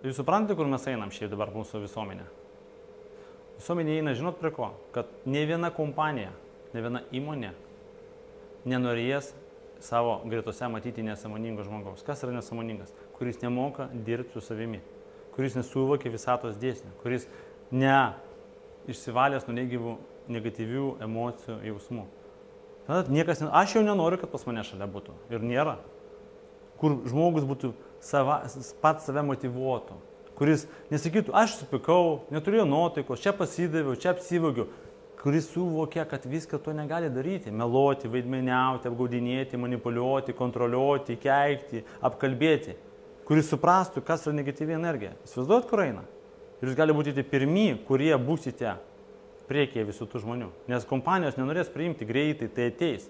Jūs suprantate, kur mes einam šiaip dabar mūsų visuomenė? Visuomenė eina, žinot prie ko? Kad ne viena kompanija, ne viena įmonė nenorės savo gretose matyti nesąmoningo žmogaus. Kas yra nesąmoningas? Kuris nemoka dirbti su savimi, kuris nesuvokia visatos dėsnių, kuris išsivalęs nuo negatyvių emocijų, jausmų. Tada niekas, aš jau nenoriu, kad pas mane šalia būtų. Ir nėra. Kur žmogus būtų pats save motyvuotų. Kuris nesakytų, aš supikau, neturėjau nuotaikos, čia pasidaviau, čia apsivogiu. Kuris suvokia, kad viską to negali daryti. Meluoti, vaidmeniauti, apgaudinėti, manipuliuoti, kontroliuoti, keikti, apkalbėti. Kuris suprastų, kas yra negatyvi energija. Įsivaizduojat, kur eina? Ir jūs gali būti pirmi, kurie būsite priekyje visų tų žmonių. Nes kompanijos nenorės priimti greitai, tai ateis.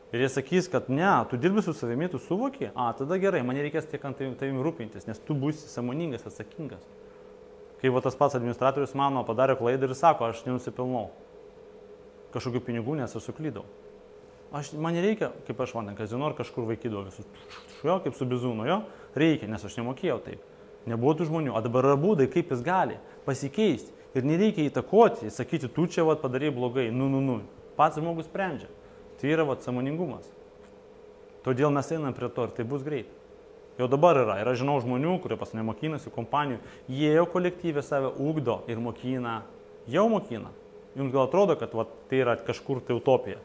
Ir jie sakys, kad ne, tu dirbi su savimi, tu suvoki, tada gerai, man nereikės tiek ant tavimi rūpintis, nes tu būsi sąmoningas, atsakingas. Kai tas pats administratorius mano padarė klaidą ir sako, aš nenusipelnau kažkokių pinigų, nes aš suklydau. Man nereikia, kaip aš vandien kazino, ar kažkur vaikydavo visus, kaip su bizūnu, reikia, nes aš nemokėjau taip. Nebuvo tų žmonių, o dabar yra būdai, kaip jis gali pasikeisti. Ir nereikia įtakoti, sakyti, tu čia padarai blogai, pats žmogus sprendžia. Tai yra sąmoningumas. Todėl mes einam prie to ir tai bus greit. Jau dabar yra. Ir aš žinau žmonių, kurie pas mane mokinasi kompanijų, jie jau kolektyvė save ugdo ir mokina. Jau mokina. Jums gal atrodo, kad tai yra kažkur tai utopija.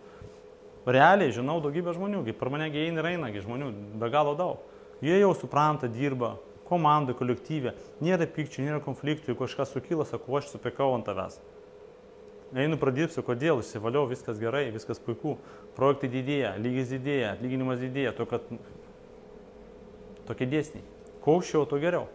Realiai žinau daugybę žmonių, per mane eina ir eina žmonių, be galo daug. Jie jau supranta, dirba, komandai, kolektyvė, nėra pykčių, nėra konfliktų, jeigu kažkas sukyla, sako, aš supykau ant tavęs. Einu pradirbsiu, kodėl, išsivaliau, viskas gerai, viskas puiku, projektai didėja, lygis didėja, atlyginimas didėja, to, kad tokie dėsniai. Kuo aukščiau, to geriau.